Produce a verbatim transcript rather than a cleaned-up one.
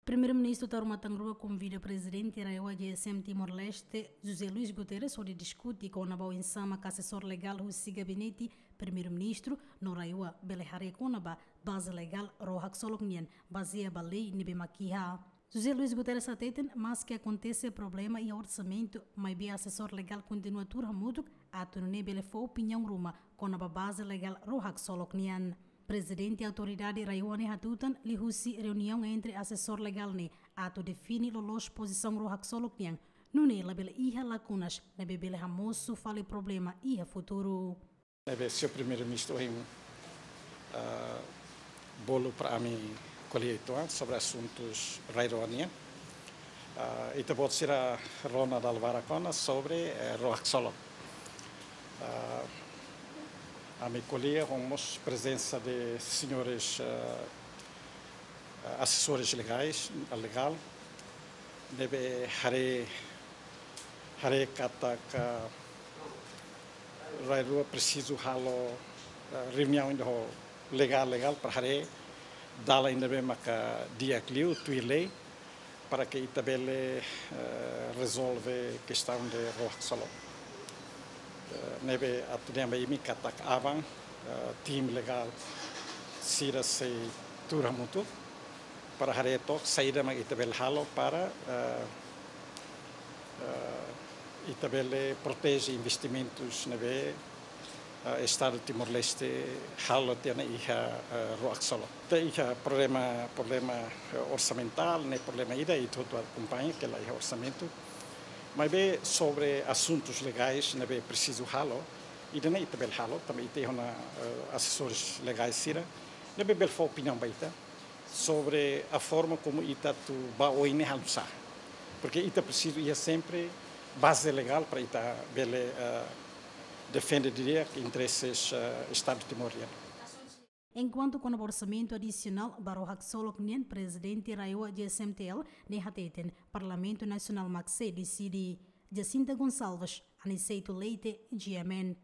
Primeiru-Ministru Taur Matan Ruak konvida Prezidente RAEOA GSM Timor-Leste, José Luís Guterres, hodi diskute kona-ba oinsá mak asesór legál husi Gabinete Primeiru-Ministru no RAEOA bele haree kona-ba baze legál ró haksolok nian, bazeia ba lei ne'ebé mak iha. José Luís Guterres hateten, maske akontese problema iha orsamentu, maibé asesór legál kontinua tuur hamutuk atu nune'e bele fó opiniaun ruma kona-ba baze legál ró haksolok nian. Prezidente Autoridade RAEOA ne'e hatutan liuhusi reuniaun entre asesór legál ne'e atu define loloos pozisaun ró haksolok nian, nune'e labele iha lakunas ne'ebé bele hamosu fali problema iha futuru. Ne'ebé señór Primeiru-Ministru ohin, ah, bolu para ami ko'alia uitoan sobre asuntus rai-ró nian. Ah, ita-boot sira rona dala barak ona sobre, eh, ró haksolok. Ah, ami ko'alia ho mós prezensa de señores, ah, ah, asesores legais, legál, ne'ebé haree, haree katak rai-rua presiza halo, ah, reuniaun ida ho legál, legál para haree dalan ida ne'ebé maka di'ak liu tuir lei, para que ita bele, eh, rezolve kestaun de ró haksolok. Eh, ne'ebé atu dehan ba imi katak aban, eh, tim legál sira sei tuur hamutuk para haree took saida mak ita bele halo para, eh, eh, ita bele proteje investimentus ne'ebé, eh, Estadu Timor-Leste halo tiha ona iha, eh, ró haksolok. Ita iha problema, problema, eh, orsamentál, ne'e problema ida, ita hotu akompaña katak la iha orsamentu. Maibé sobre asuntus legais ne'ebé presiza halo, ida-ne'e ita bele halo, tanba ita iha ona, eh, asesores legais sira ne'ebé bele fó opiniaun ba ita sobre a forma como ita atu ba oin ne'e halo nu'usá. Porque ita presiza iha sempre baze legál para ita bele, eh, defende di'ak intereses, eh, Estadu timoroan. Enkuantu kona-ba orsamentu adisionál ba ró haksolok nian, Prezidente RAEOA GSM-T L ne'e hateten Parlamentu Nasionál mak sei deside. Jacinta Gonçalves, Aniceto Leite, G M N.